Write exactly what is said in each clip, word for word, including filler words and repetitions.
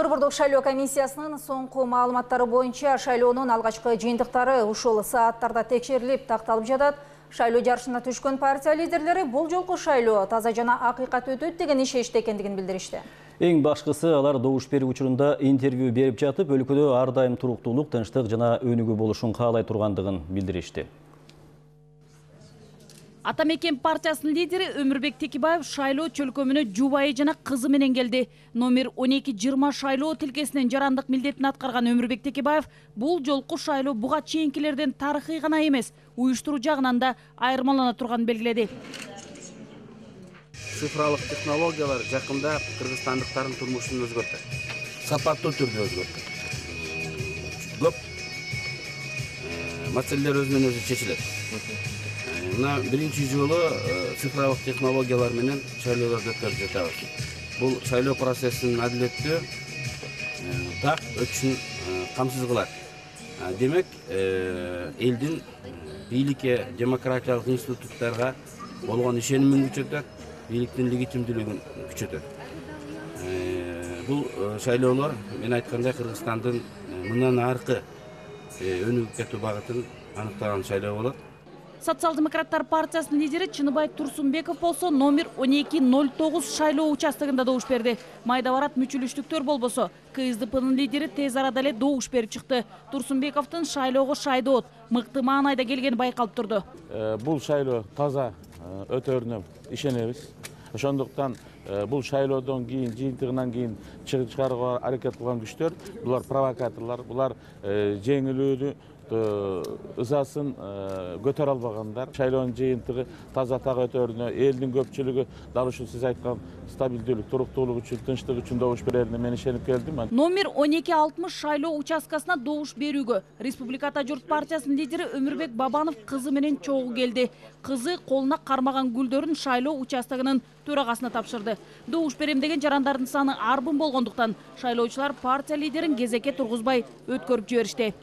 Борбордук шайлоо комиссиясынын соңку маалыматтары боюнча шайлоонун алгачкы жыйынтыктары ушул сааттарда текшерилип такталып жатат. Шайлоо жарышына түшкөн партия лидерлери бул жолку шайлоо таза жана акыйкат өтөт деген ишеничте экендигин билдиришти. Эң башкысы алар добуш берүү учурунда интервью берип жатып, өлкөдө ар дайым туруктуулук, тынчтык жана өнүгүү болушун каалай тургандыгын билдиришти. Ата мекен партиясынын лидери Өмүрбек Текебаев шайлоо чөлкөмүнө жубайы жана кызы менен келди. Номер он эки жыйырма шайлоо тилкесинин жарандык милдетин аткарган Өмүрбек Текебаев бул жолку шайлоо буга чейинкилерден тарыхый гана эмес, уюштуруу жагынан да айырмалана турганын белгиледи. Цифралык технологиялар жакында кыргызстандыктардын турмушун өзгөртөт. Сапаттуу түрдө өзгөртөт. Көп маселелер өзүнөн өзү чечилет. Мына биринчи жолу цифралык технологиялар менен шайлоолорду өткөрүп жатабыз. Бул шайлоо процессин адилеттүү, так өтүшүн камсыз кылат. Демек, элдин бийликке, демократиялык институттарга болгон ишенимин күчөтөт, бийликтин легитимдүүлүгүн күчөтөт. Бул шайлоолор мен айткандай Кыргызстандын мындан аркы өнүгүп кетүү багытын аныктаган шайлоо болот. Социал-демократтар партиясынын лидери Чыныбай Турсунбеков болсо номер он эки ноль тогуз шайлоо участогунда добуш берди. Майда барат мүчүлүштүктөр болбосо, КСДПнын лидери тез арада эле добуш берип чыкты. Турсунбековдун шайлоого шайдоот, мыкты маанайда келгени байкалып турду. Бул шайлоо таза өтөрүнө ишенебиз. Ошондуктан бул шайлоодон кийин, жыйынтыгынан кийин чыгарууга аракет кылган күчтөр, булар провокаторлор, булар жеңилүүнү ызасын көтөрө албагандар. Шайлоонун жыйынтыгы таза так өтөрүнө, элдин көпчүлүгү дал ушул сиз айткан стабилдүүлүк, туруктуулук үчүн, тынчтык үчүн добуш берерине мен ишенип келдим. Номер он эки алтымыш шайлоо участкасына добуш берүүгө Республика Ата журт партиясынын лидери Өмүрбек Бабанов кызы менен чогуу келди. Кызы колуна кармаган гүлдөрүн шайлоо участогунун төрагасына тапшырды. Добуш берем деген жарандардын саны арбын болгондуктан шайлоочулар партия лидерин кезекке тургузбай өткөрүп жиберишти.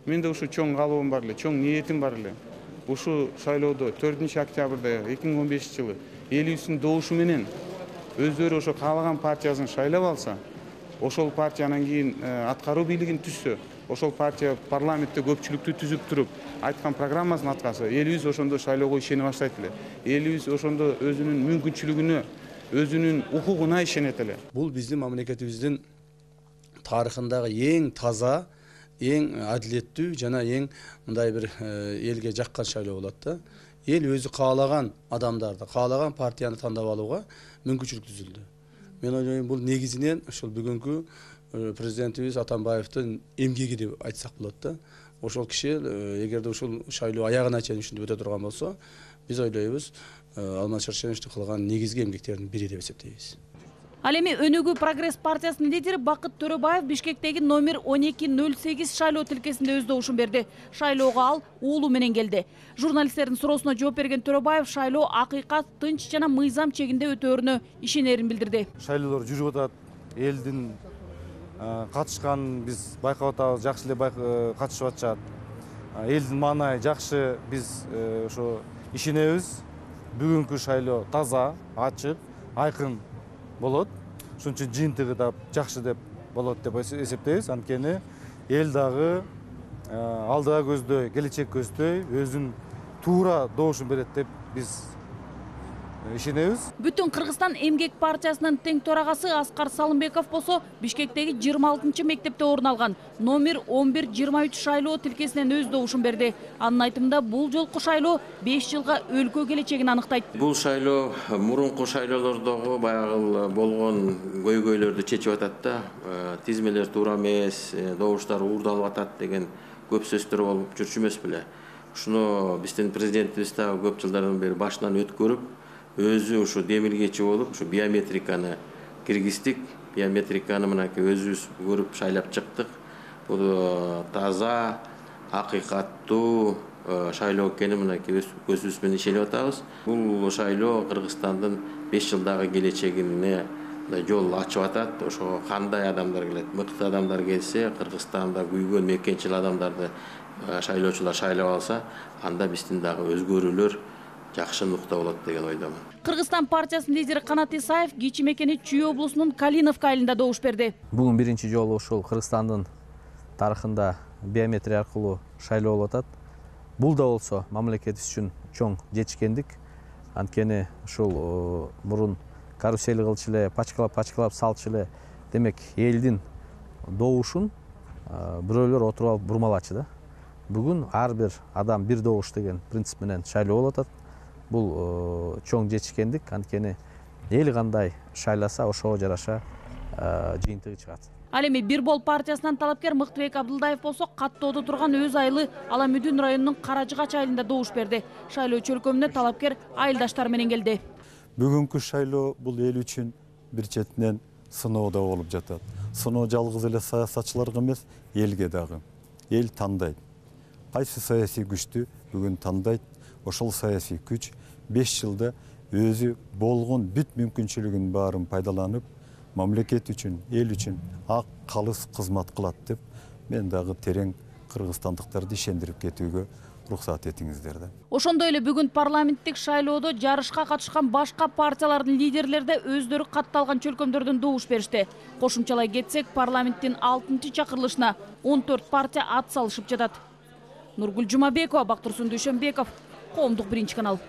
Менде ушу чоң каалоом бар эле, чоң ниетим бар эле. Ушу шайлоодо төртүнчү октябрда эки миң он бешинчи жылы элибиздин добушу менен өздөрү ошо каалаган партиясын шайлап алса, ошол партиянан кийин аткаруу бийлигин түзсө, ошол партия парламентте көпчүлүктү түзүп туруп, айткан программасын аткарса, элибиз ошондо шайлоого ишене баштайт эле. Элибиз ошондо өзүнүн мүмкүнчүлүгүнө, өзүнүн укугуна ишенет эле. Бул биздин мамлекетибиздин тарыхындагы эң таза, эң адилеттүү жана эң мындай бир элге жаккан шайлоо болот да. Эл өзү каалаган адамдарды, каалаган партияны тандап алууга мүмкүнчүлүк түзүлдү. Мен ойлойм, бул негизинен ошол бүгүнкү президентибиз Атамбаевдин эмгеги деп айтсак болот да. Ошол киши эгерде ушул шайлоо аягына чейин ушинтип өтө турган болсо, биз ойлойбуз, Алмаз Шаршеновичтин кылган негизги эмгектердин бири деп эсептейбиз. Ал эми Өнүгүү Прогресс партиясынын лидери Бакыт Төрөбаев Бишкектеги номер он эки ноль сегиз шайлоо тилкесинде өз добушун берди. Шайлоого ал уулу менен келди. Журналисттердин суроосуна жооп берген Төрөбаев шайлоо акыйкат, тынч жана мыйзам чегинде өтөөрүнө ишенерин билдирди. Шайлоолор жүрүп атат, элдин катышканын биз байкап атабыз, жакшы эле катышып атышат. Элдин маанайы жакшы, биз ошо ишенебиз. Бүгүнкү шайлоо таза, ачык, айкын болот. Ошон үчүн жыйынтыгы да жакшы деп болот деп эсептейбиз. Анткени эл дагы алдыга көздөй, келечек көздөй өзүн туура добушун берет деп биз ишенебиз. Бүтүн Кыргызстан эмгек партиясынын тең төрагасы Аскар Салымбеков болсо Бишкектеги жыйырма алтынчы мектепте орун алган номер он бир жыйырма үч шайлоо тилкесинен өз добушун берди. Анын айтымында бул жолку шайлоо беш жылга өлкө келечегин аныктайт. Бул шайлоо мурунку шайлоолордогу баягы болгон көйгөйлөрдү чечип атат да. Тизмелер туура эмес, добуштар уурдалып атат деген көп сөздөр болуп жүрчү эмес беле. Ушуну биздин президентибиз да көп жылдардан бери башынан өткөрүп, өзү ушу демилгечи болуп, ушу биометриканы киргиздик. Биометриканы мынакей өзүбүз көрүп шайлап чыктык. Бул таза, акыйкаттуу шайлоо экени мынакей өз көзүбүз менен ишенип атабыз. Бул шайлоо Кыргызстандын беш жылдагы келечегине жол ачып атат. Ошо кандай адамдар келет? Мыкты адамдар келсе, Кыргызстанда күйгөн мекенчил адамдарды шайлоочулар шайлап алса, анда биздин дагы өзгөрүүлөр жакшы нукта болот деген ойдомун. Кыргызстан партиясынын лидери Канат Исаев кичи мекени Чүй облусунун Калиновка айылында добуш берди. Бүгүн биринчи жолу ушул Кыргызстандын тарыхында биометрия аркылуу шайлоо болуп атат. Бул да болсо мамлекетибиз үчүн чоң жетишкендик. Анткени ушул мурун карусель кылчу эле, пачкалап пачкалап салчу эле, демек элдин добушун бирөөлөр отуруп алып бурмалачу да. Бүгүн ар бир адам бир добуш деген принцип менен шайлоо болуп атат. Бул чоң жетишкендик. Анткени эл кандай шайласа, ошого жараша жыйынтыгы чыгат. Ал эми Бир бол партиясынан талапкер Мыктыбек Абдылдаев болсо каттоодо турган өз айылы Аламүдүн районунун Каражыгач айылында добуш берди. Шайлоо чөлкөмүнө талапкер айылдаштары менен келди. Бүгүнкү шайлоо бул эл үчүн бир четинен сыноо да болуп жатат. Сыноо жалгыз эле саясатчыларга эмес, элге дагы. Эл тандайт. Кайсы саясий күчтү бүгүн тандайт. Ошол саясий күч беш жылда өзү болгон бүт мүмкүнчүлүгүн баарын пайдаланып, мамлекет үчүн, эл үчүн ак калыс кызмат кылат деп мен дагы терең кыргызстандыктарды ишендирип кетүүгө уруксат этиңиздер да. Ошондой эле бүгүн парламенттик шайлоодо жарышка катышкан башка партиялардын лидерлери да өздөрү катталган чөлкөмдөрдөн добуш беришти. Кошумчалай кетсек, парламенттин алтынчы чакырылышына он төрт партия ат салышып жатат. Нургүл Жумабекова, Бактурсун Дүйшөнбеков, Коомдук биринчи канал.